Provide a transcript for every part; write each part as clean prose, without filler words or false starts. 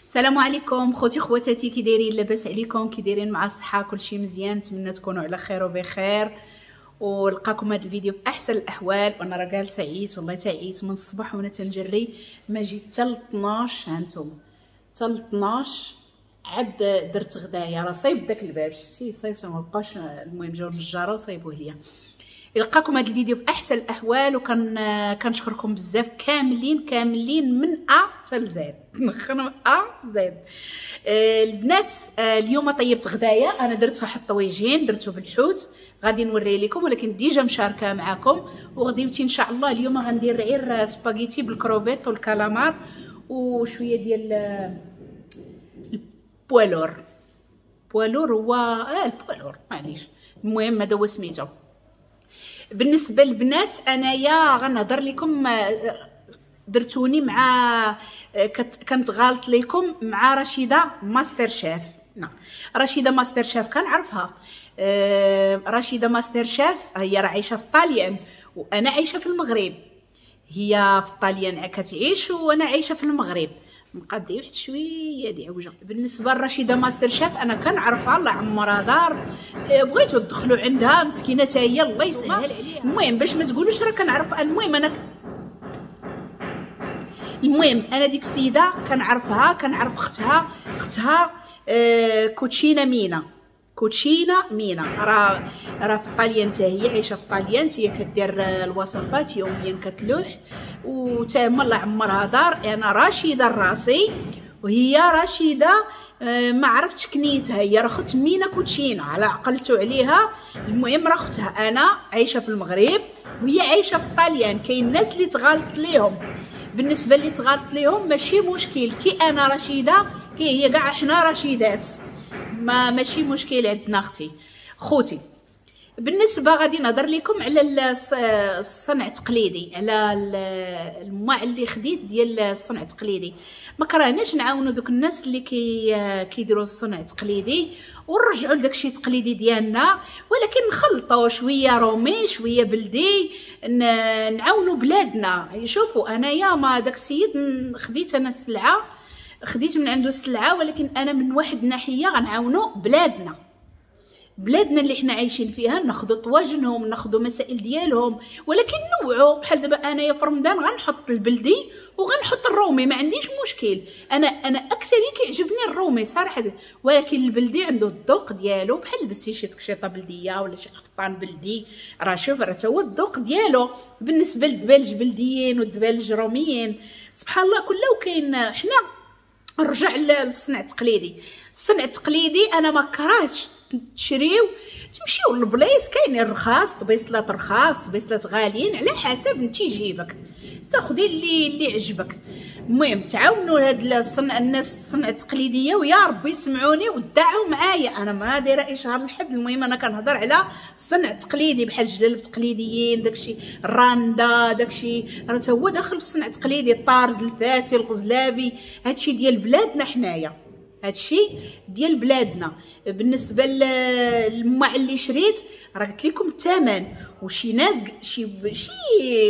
السلام عليكم خوتي خواتاتي، كي دايرين؟ لاباس عليكم؟ كي دايرين مع الصحة؟ كلشي مزيان؟ نتمنى تكونوا على خير وبخير، ولقاكم هذا الفيديو في احسن الاحوال. وانا راه جالسة عييت والله تعيت من الصباح وانا تنجري، ما جيت حتى ل 12، هانتوما حتى ل 12 عاد درت غدايا. راه صايب داك الباب شتي صايبته ما بقاش. المهم جاو النجاره وصايبوه ليا. يلقاكم هذا الفيديو في احسن الاحوال، وكان كنشكركم بزاف كاملين كاملين من A حتى Z، من A Z. البنات اليوم طيبت غدايا، انا درت واحد الطويجين درته بالحوت غادي نوريه لكم، ولكن déjà مشاركة معكم. وغديوتي ان شاء الله اليوم غندير غير سباغيتي بالكروفيت والكالامار وشوية ديال ال poids lourd. poids lourd هو ال poids lourd معليش، المهم هذا هو سميتو. بالنسبة للبنات انايا غنهضر لكم، درتوني مع كنت غالط لكم مع رشيده ماستر شيف. نعم رشيده ماستر شيف كنعرفها. رشيده ماستر شيف هي راه عايشه في الطاليان وانا عايشه في المغرب. هي في الطاليان كتعيش وانا عايشه في المغرب. مقادي واحد شوية دي عوجه. بالنسبة لرشيده ماستر شيف انا كنعرفها، الله عمرها دار، بغيتو تدخلوا عندها مسكينه حتى هي الله يسهل عليها. المهم باش ما تقولوش راه كنعرف، المهم انا ديك السيدة كنعرفها، كنعرف اختها. اختها كوتشينا مينا، كوتشينا مينا راه في الطاليان حتى هي عايشه في الطاليان، هي كدير الوصفات يوميا كتلوح، وتا هما الله عمرها دار. انا رشيده الراسي وهي رشيده ما عرفتش كنيتها، هي راه اخت مينا كوتشينا على عقلتو عليها. المهم راه اختها، انا عايشه في المغرب وهي عايشه في الطاليان. كاين الناس اللي تغلط ليهم، بالنسبة اللي تغلط ليهم ماشي مشكل، كي انا رشيده كي هي كاع حنا رشيدات، ما ماشي مشكل عندنا اختي خوتي. بالنسبة غادي نهضر لكم على الصنع التقليدي، على الماع اللي خديت ديال الصنع التقليدي. ما كرهناش نعاونوا دوك الناس اللي كيديروا الصنع التقليدي ونرجعوا لداكشي التقليدي ديالنا، ولكن نخلطوا شوية رومي شوية بلدي، نعاونوا بلادنا. شوفوا انايا ما داك السيد خديت انا السلعة، خديت من عنده السلعة، ولكن انا من واحد الناحية غنعاونوا بلادنا، بلادنا اللي حنا عايشين فيها، ناخذوا طواجنهم، ناخذوا مسائل ديالهم، ولكن نوعوا. بحال دابا انايا في رمضان غنحط البلدي وغنحط الرومي، ما عنديش مشكل. انا اكثر كيعجبني الرومي صراحة، ولكن البلدي عنده الذوق ديالو. بحال لبستي شي تكشيطه بلديه ولا شي قفطان بلدي، راه شوف راه تا هو الذوق ديالو. بالنسبة للدبالج بلديين والدبالج روميين سبحان الله كله كاين. حنا نرجع للصنع التقليدي. الصنع التقليدي انا ما كرهتش تشريو تمشيو للبلايص، كاينين الرخاص، طبيصلات رخاص طبيصلات غاليين على حسب انت جيبك، تاخدي اللي عجبك. المهم تعاونوا هاد الصنع، الناس الصنع التقليدية، ويا ربي يسمعوني ودعوا معايا. انا ما دايرة اشهار لحد، المهم انا كنهضر على الصنع التقليدي بحال الجلالب التقليديين، داكشي الراندا، داكشي راه تا هو داخل في الصنع التقليدي، الطارز الفاسي الغزلابي، هادشي ديال بلادنا حنايا، هادشي ديال بلادنا. بالنسبة للماع اللي شريت راه قلت لكم الثمن، وشي ناس شي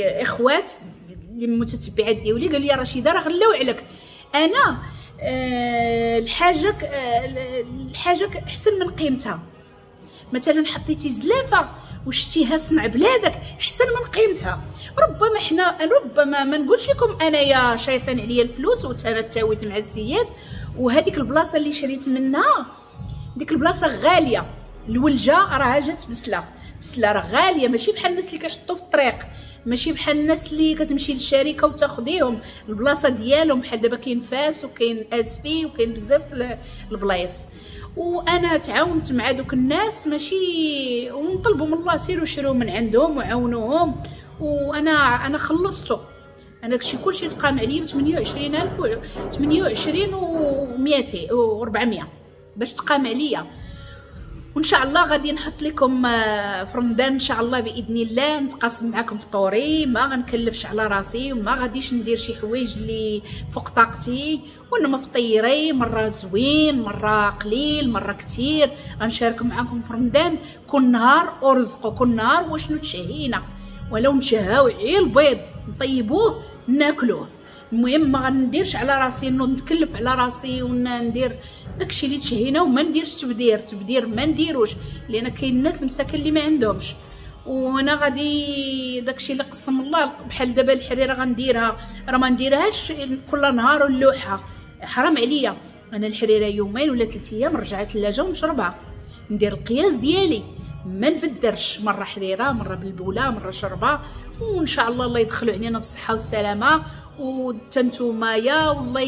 اخوات اللي متتبعات ديالي قالوا لي رشيده راه غلاو عليك. انا الحاجة الحاجة احسن من قيمتها. مثلا حطيتي زلافه وشتيها صنع بلادك احسن من قيمتها. ربما حنا ربما ما نقولش لكم انايا شيطان عليا الفلوس وتانا تاويت مع السيد، وهذيك البلاصة اللي شريت منها ديك البلاصة غالية، الولجه راها جات بسلة بسلة راه غالية، ماشي بحال الناس اللي كيحطوا في الطريق، ماشي بحال الناس اللي كتمشي للشركة وتاخديهم البلاصة ديالهم. بحال دابا كاين فاس وكاين اسفي وكاين بزاف البلايص، وانا تعاونت مع دوك الناس ماشي، ونطلبوا من الله سيروا شرو من عندهم وعاونوهم. وانا خلصته، انا داكشي كلشي تقام عليا ب 28000 و 28 و 200 و 400 باش تقام عليا. وان شاء الله غادي نحط لكم في رمضان ان شاء الله باذن الله نتقاسم معكم فطوري، ما غنكلفش على راسي وما غاديش ندير شي حوايج اللي فوق طاقتي، وانما فطيري مرة زوين مرة قليل مرة كثير. غنشارك معكم في رمضان كل نهار ورزقه، كل نهار وشنو تشهينا، ولو نشهاو غير البيض نطيبوه ناكلوه. المهم ما غنديرش على راسي انه نتكلف على راسي وندير داكشي اللي تشهينا، وما نديرش تبدير، تبدير ما نديروش، لان كاين الناس مساكن اللي ما عندهمش. وانا غادي داكشي اللي قسم الله، بحال دابا الحريره غنديرها، راه ما نديرهاش كل نهار ونلوحها، حرام عليا. انا الحريره يومين ولا 3 ايام نرجعها الثلاجة ونشربها، ندير القياس ديالي، ما نبدرش، مرة حريره مرة بالبوله مرة شربه. وان شاء الله الله يدخلوا علينا بالصحة والسلامة، وتنتوما يا والله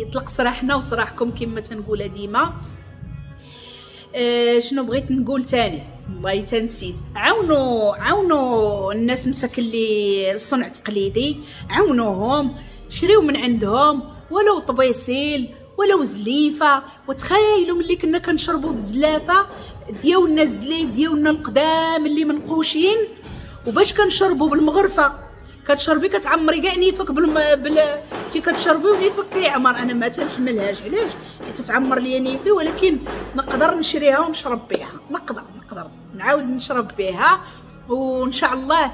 يطلق سراحنا وسراحكم كما تنقولها ديما. شنو بغيت نقول تاني؟ والله تنسيت. عاونوا الناس مساكن اللي الصنع التقليدي، عاونوهم، شريو من عندهم ولو طبيسيل ولو زليفه. وتخيلوا ملي كنا كنشربوا في الزلافه ديالنا، الزليف ديالنا القدام اللي منقوشين، وباش كنشربوا بالمغرفه، كتشربي كتعمري كاع نيفك تي كتشربي ونيفك كيعمر. انا ما تنحملهاش، علاش؟ حيت تعمر ليا نيفي، ولكن نقدر نشريها ونشرب بها، نقدر نعاود نشرب بها. وان شاء الله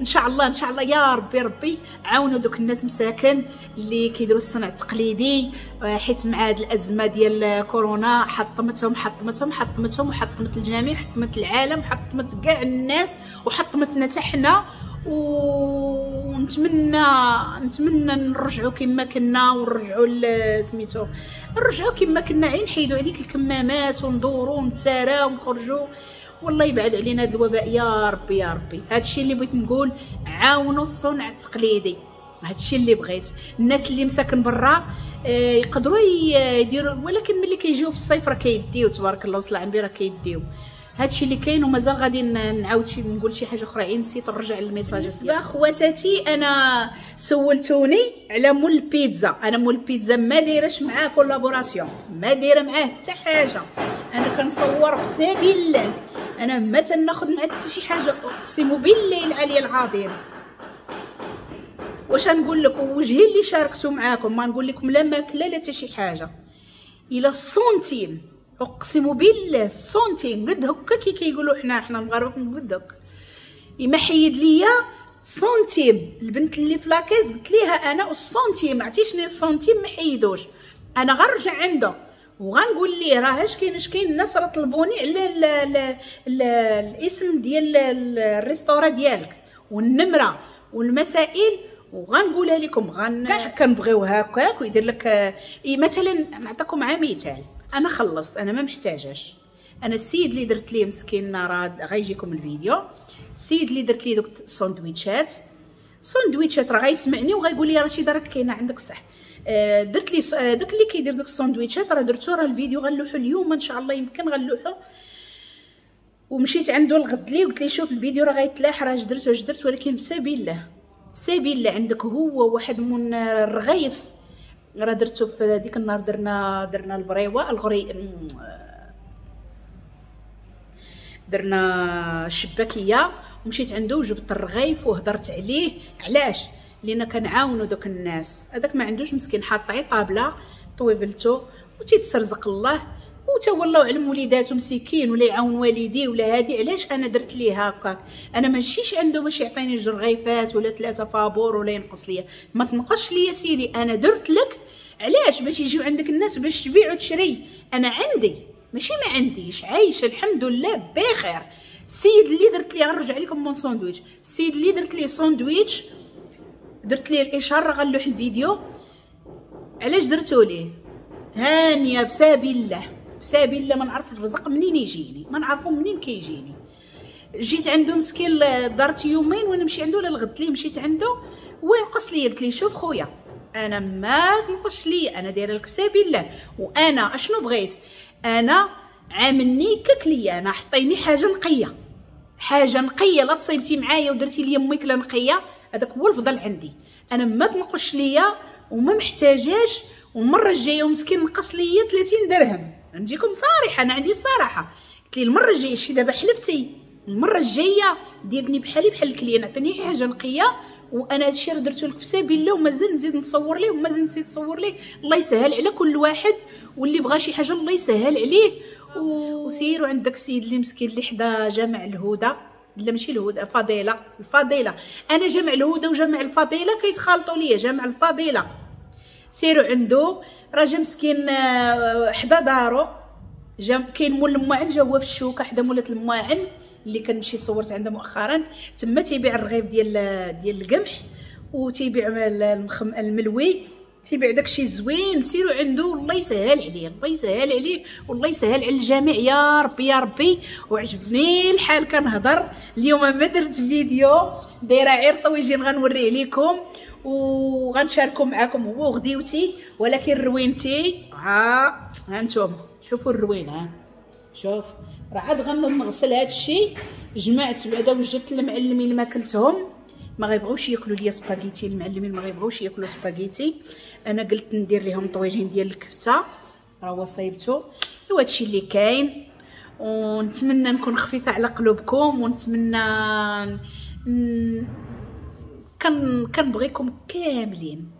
ان شاء الله ان شاء الله يا ربي ربي عاونوا دوك الناس مساكن اللي كيديروا الصنع التقليدي، حيت مع هاد الازمة ديال كورونا حطمتهم حطمتهم حطمتهم، وحطمت الجميع، حطمت العالم، حطمت كاع الناس، وحطمتنا حتى حنا. ونتمنى نتمنى نرجعوا كما كنا، ونرجعوا سميتو، نرجعوا كما كنا، عين نحيدوا هذيك الكمامات وندوروا ونتساراو ونخرجوا، والله يبعد علينا هذا الوباء يا ربي يا ربي. هادشي اللي بغيت نقول، عاونوا الصنع التقليدي، هادشي اللي بغيت. الناس اللي مساكن برا يقدروا يديروا، ولكن ملي كيجيو في الصيف راه كيديو، تبارك الله وصل عندي راه كيديو. هادشي اللي كاين، ومازال غادي نعاود شي نقول شي حاجة اخرى، عين نسيت نرجع للميساجات. بالنسبة خواتاتي، انا سولتوني على مول البيتزا. انا مول البيتزا ما دايرش معاه collaboration، ما دايرة معاه حتى حاجة. انا كنصور في سبيل الله، انا ما تناخذ مع حتى شي حاجة، اقسم بالله العلي العظيم. واش نقول لكم، وجهي اللي شاركته معاكم، ما نقول لكم لا ماكله لا حتى شي حاجة، الى السنتيم، اقسم بالله السنتيم قد هكا كي كيقولوا حنا المغاربة قد هكا. ما حيد ليا سنتيم، البنت اللي في la caisse قلت ليها انا السنتيم، عرفتي السنتيم ما حيدوش. انا غنرجع عنده وغنقول ليه راه اش كاين اش كاين، الناس راه طلبوني على ال ال ال الاسم ديال ال restaurant ديالك والنمره والمسائل، وغنقولها لكم. كاع كنبغيو هكاك ويدير لك مثلا. نعطيكم عا مثال، انا خلصت، انا ما محتاجاش. انا السيد اللي درت ليه مسكين راه غيجيكم الفيديو، السيد اللي درت ليه دوك الساندويتشات، ساندويتشات راه غيسمعني وغيقول لي رشيده راك كاينه عندك صح. درت لي داك اللي كيدير دوك الساندويتشات راه درتو، راه الفيديو غنلوحو اليوم ان شاء الله، يمكن غنلوحو. ومشيت عنده الغد ليه وقلت ليه شوف الفيديو راه غيتلاح، راه اش درت واش درت، ولكن بسبيل الله بسبيل الله عندك هو واحد من الرغيف راه درتو في ديك النهار، درنا البريوه الغري، درنا الشباكيه، ومشيت عنده وجبت الرغيف وهضرت عليه. علاش؟ لان كنعاونوا دوك الناس. هذاك ما عندوش مسكين، حاط عي طابله طويبلتو وتيتسرزق الله، وتا والله علم وليداتو مسكين، ولا يعاون والديه ولا هادي. علاش انا درت ليه هكاك؟ انا ماشيش عنده باش يعطيني جوج رغيفات ولا 3 فابور ولا ينقص ليا، ما تنقصش ليا سيدي، انا درت لك علاش؟ باش يجيو عندك الناس باش تبيع وتشري. انا عندي ماشي ما عنديش، عايشه الحمد لله بخير. السيد اللي درت ليه، غنرجع لكم mon sandwich، السيد اللي درت ليه ساندويتش، درت ليه الاشارة، غنلوح الفيديو. علاش درتو ليه؟ هانيه بسبيل الله بسبيل الله، ما نعرف الرزق منين يجيني، ما نعرفو منين كيجيني. جيت عنده مسكين دارت يومين وانا نمشي عنده، ولا الغد ليه مشيت عنده وينقص لي. قلت ليه شوف خويا انا ما تنقصش لي، انا دايرة لك في سبيل الله، وانا اشنو بغيت؟ انا عاملني ككليه، انا حطيني حاجة نقية، حاجة نقية، لا تصيبتي معايا ودرتي لي ماكله نقية، هذاك هو الفضل عندي. انا ما تنقصش ليا وما محتاجاش. والمرة الجاية ومسكين نقص ليا 30 درهم، نجيكم صريحه، انا عندي الصراحة. قلت لي المرة الجاية شي دابا حلفتي، المرة الجاية ديرني بحالي بحال ال client، عطيني حاجة نقية، وانا هادشي راه درتو لك في سبيل الله، ومازال نزيد نصور ليه ومازال نزيد نصور ليه. الله يسهل على كل واحد، واللي بغى شي حاجة الله يسهل عليه. وسيروا عند داك السيد اللي مسكين اللي حدا جامع الهدى، لا ماشي الهدى، فضيلة، الفضيلة. انا جامع الهدى وجامع الفضيلة كيتخالطوا ليا. جامع الفضيلة سيروا عنده، راه جا مسكين حدا دارو، جا كاين مول المواعن، جا هو في الشوكة حدا مولات المواعن اللي كنمشي صورت عندها مؤخرا. تما تيبيع الرغيف ديال القمح، وتيبيع الملوي، تيبيع داكشي زوين. سيروا عنده، الله يسهل عليه، الله يسهل عليه، والله يسهل على الجميع يا ربي يا ربي. وعجبني الحال كنهضر اليوم، ما درت فيديو، دايرة غير طويجين غنوريه لكم وغنشاركو معاكم هو وغديوتي. ولكن روينتي ها انتم شوفوا الروين، ها شوف راه عاد غنغسل هادشي. جمعت بعدا وجدت المعلمين ماكلتهم، ما غيبغوش ياكلوا ليا سباغيتي، المعلمين ما غيبغوش ياكلوا سباغيتي. انا قلت ندير لهم طويجين ديال الكفتة، راه هو صايبته. وهادشي اللي كاين، ونتمنى نكون خفيفة على قلوبكم، ونتمنى كنبغيكم كاملين،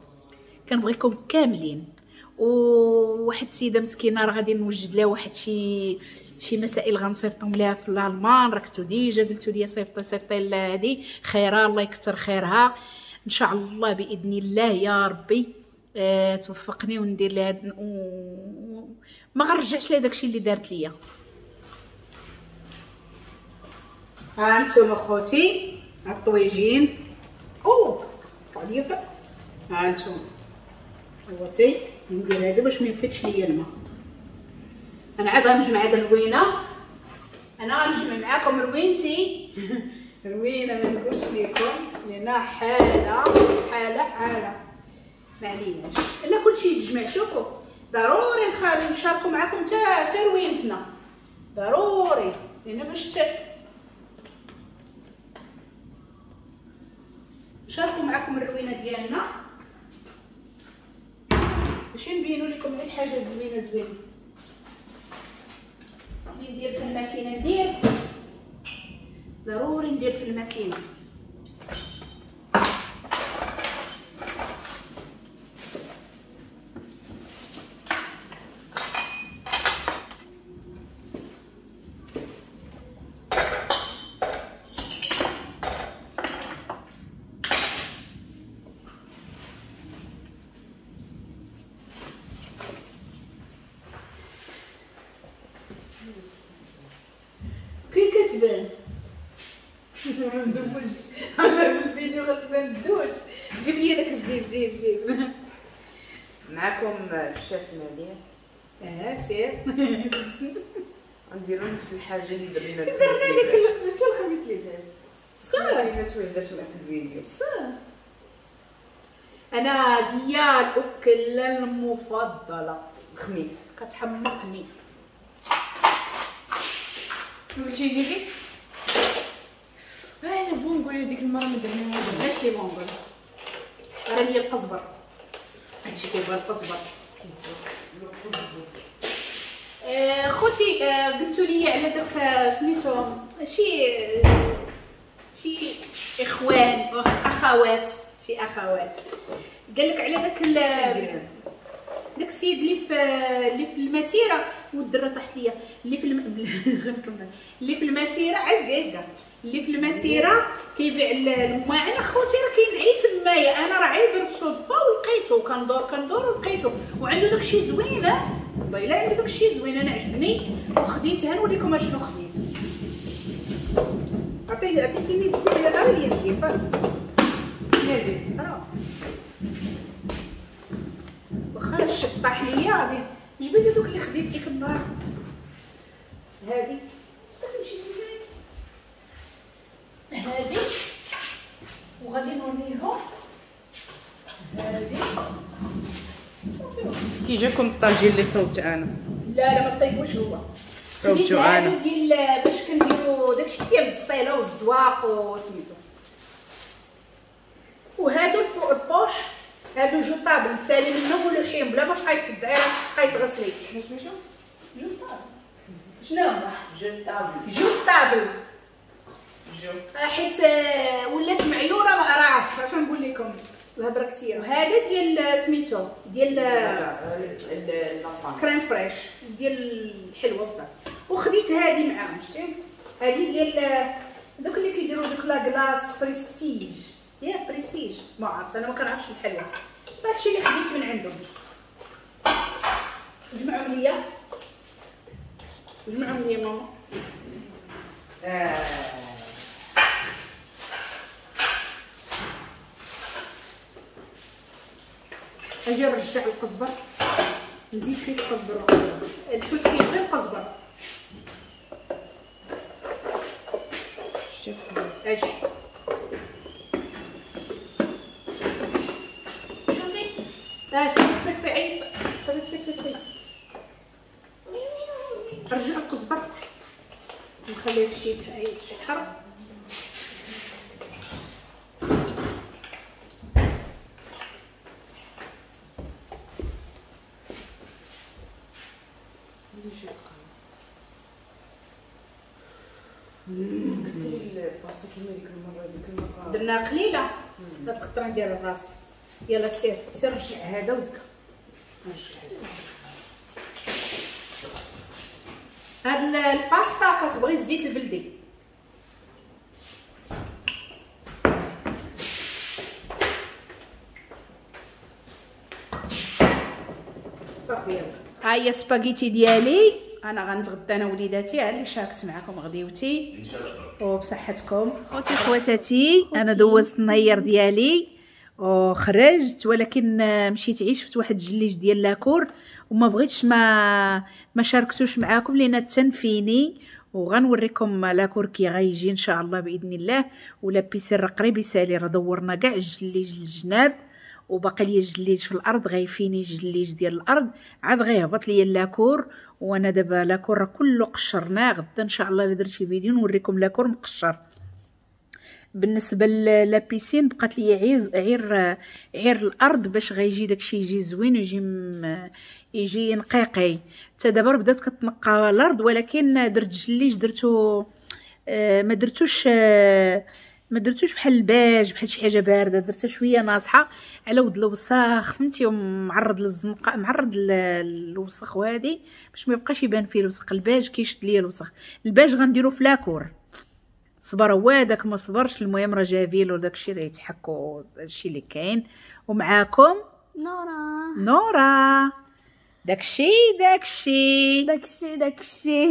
كنبغيكم كاملين. وواحد السيدة مسكينه راه غادي نوجد لها واحد شي مسائل غنصيفطهم ليها في الالمان، راه كنتو déjà قلتو لي صيفطي صيفطي هادي خيرها، الله يكثر خيرها ان شاء الله باذن الله يا ربي. توفقني وندير لها ما غنرجعش لها داكشي اللي دارت ليا. ها انتم اخوتي الطويجين، او طلع ها انتم خوتي، ندير هذا باش ما ينفدش ليا الماء. انا عاد غنجمع هاد الروينه، انا غنجمع معاكم روينتي روينه ما نقولش لكم لان حاله حاله حاله، ما عليناش الا كلشي يتجمع. شوفوا ضروري نشاركوا معاكم حتى روينتنا ضروري، لان باش نشاركوا معاكم الروينه ديالنا باش نبينوا لكم غير الحاجة الزوينة زوينة اللي ندير في الماكينة. ندير ضروري ندير في الماكينة. كي كتبان ندوش انا في الفيديو غتبان ندوش. جيب لي داك الزيف، جيب جيب. معكم الشيف ناديه. سير غنديرو نفس الحاجة اللي درنا درنا لك ماشي الخميس اللي فات، صافي اللي فات وهدرت معاك الفيديو. صافي انا ديال الاكلة المفضلة الخميس، كتحمقني. شنو قلتي جيبي؟ انا vongole ديك المرة ما درناها. علاش les vongoles؟ راه ليا القزبر، هادشي كيبغي القزبر. خوتي قلتوا لي على داك سميتو شي اخوان اخوات، شي اخوات قال لك على داك داك السيد اللي في المسيرة، والدره طاحت ليا اللي في غنكمل اللي في المسيرة، عزقه عزقه اللي في المسيرة كيبيع المواعن. اخوتي راه كاين عي تمايا، انا راه عي درت صدفة ولقيته، كندور ولقيته، وعنده داكشي زوين، والله الا عنده داكشي زوين، انا عجبني وخديتها. نوريكم اشنو خديت. عطيتيني الزيت، راه لي الزيت نازل راه واخا الشط طاح ليا. غادي جبد هذوك اللي خديت ديك النهار. هادي تمشي تما هادي، وغادي نوريهم هادي. كي جاكم الطاجين اللي صوبت انا؟ لا لا ما صايبوش هو، صوبتو انا ديال باش كنديرو داكشي ديال البسطيله والزواق وسميتو. وهادو ال poches هادو jetables نسالي منهم ولوحيهم بلا ما تبقاي تصدعي راسك تبقاي تغسلي. شنو سميتو؟ jetable. شنو هما؟ jetable. jetable je حيت ولات معيوره راه اش نقول لكم الهضرة كثيرة. وهذا ديال سميتو ديال crème fraîche ديال الحلوة بصح. وخديت هذه معاهم، شتي هذه ديال دوك اللي كيديروا دوك la glace Prestige، يا بريستيج ما عرفت انا ما كنعرفش الحلوى. هادشي اللي خديت من عندهم. جمعهم ليا، جمعهم ليا ماما. اجي نرجع القزبر، نزيد شوية القزبر. الحوت كيبغي القزبر. اجي شوفي، سير في عيط، في رجع القزبر، نخلي هادشي يتحر. كثري الباستا كيما ديك المرة، ديك المرة درنا قليله، هاد الخطرة ندير الراس. يلا سير سير رجع هذا وزكا. رجع هاد الباستا كتبغي الزيت البلدي. صافي يلا ها هي سباغيتي ديالي. انا غنتغدى انا وليداتي، ها اللي شاركت معكم غديوتي وبصحتكم. خوتي خواتاتي، انا دوزت النهار ديالي وخرجت، ولكن مشيت عيش شفت واحد الجليج ديال la cour وما بغيتش ما شاركتوش معاكم لان تنفيني، وغنوريكم la cour كي غيجي ان شاء الله باذن الله. و la piscine راه قريب يسالي، راه دورنا كاع الجليج للجناب وباقي لي الجليج في الارض، غيفيني الجليج ديال الارض عاد غيهبط ليا la cour. وانا دابا la cour راه كله قشرناه، غدا ان شاء الله الا درت شي فيديو نوريكم la cour مقشر. بالنسبة la piscine بقات لي غير الارض باش غيجي داكشي يجي زوين ويجي يجي نقيقي. حتى دابا بدات كتنقى الارض، ولكن درت جليج درتو ما درتوش بحال الباج، بحال شي حاجة باردة، درتها شوية ناصحه على ود الوساخ، فهمتي، ومعرض للزنقه، معرض للوسخ وهادي باش ما يبقاش يبان فيه الوسخ. الباج كيشد ليا الوسخ، الباج غنديرو في la cour. صبر هو داك ما صبرش، المهم راه جافيل وداكشي راه يتحكوا هادشي اللي كاين. ومعاكم نورا، نورا داكشي داكشي داكشي داكشي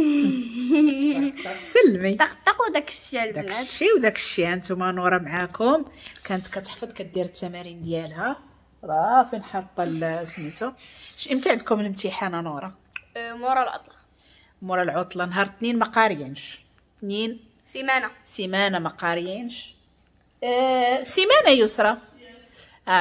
سلمي طقطق وداكشي البنات، داكشي وداكشي. هانتوما نورا معاكم، كانت كتحفظ كدير التمارين ديالها، راه فين حاطه سميتو. امتى عندكم الامتحان نورا؟ مورا العطلة. مورا العطلة نهار اثنين ما قاريينش، اثنين سيمانه، سيمانه ما قاريينش، سيمانه يسرى،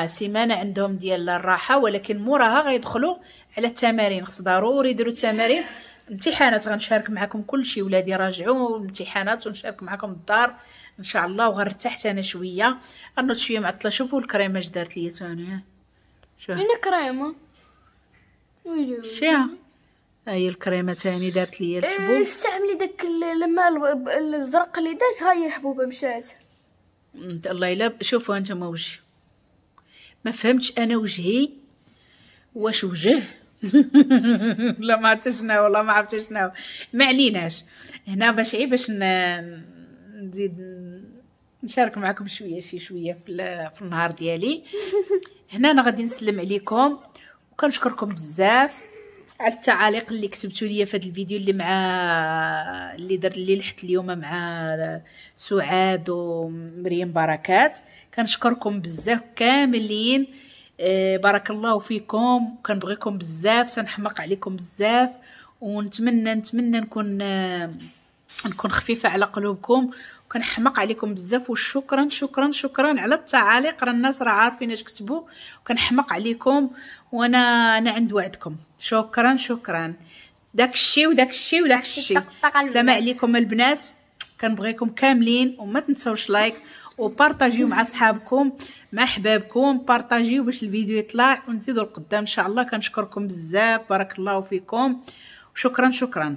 سيمانه عندهم ديال الراحة، ولكن موراها غيدخلوا على التمارين، خص ضروري يديروا التمارين. امتحانات غنشارك معكم كلشي، ولادي راجعوا امتحانات ونشارك معكم الدار ان شاء الله. وغنرتاح انا شوية، غنوض شوية معطلة. شوفوا الكريمة اش دارت ليا ثاني، شوف انا كريمة شيا، ها هي الكريمة ثاني دارت ليا الحبوب. استعملي داك الماء الزرق اللي دارت، ها هي الحبوبه مشات. الله الا شوفوا انتم وجهي، ما فهمتش انا وجهي واش وجه لا ما عرفت شنو، والله ما عرفت شنو. ما عليناش هنا باش عي باش نزيد نشارك معكم شوية شي شوية في النهار ديالي. هنا انا غادي نسلم عليكم وكنشكركم بزاف على التعاليق اللي كتبتوا لي في هذا الفيديو اللي مع اللي در اللي لحت اليوم مع سعاد ومريم بركات. كنشكركم بزاف كاملين، بارك الله فيكم، كنبغيكم بزاف، تنحمق عليكم بزاف، ونتمنى نتمنى نكون خفيفة على قلوبكم، وكنحمق عليكم بزاف. وشكرا شكرا شكرا على التعاليق، راه الناس راه عارفين اش كتبوا، وكنحمق عليكم، وانا انا عند وعدكم. شكرا شكرا، داكشي وداكشي وداكشي. السلام عليكم البنات، كنبغيكم كاملين، وما تنساوش like وبارطاجيو مع صحابكم مع احبابكم، بارطاجيو باش الفيديو يطلع ونزيدوا لقدام ان شاء الله. كنشكركم بزاف، بارك الله فيكم، شكرا شكرا.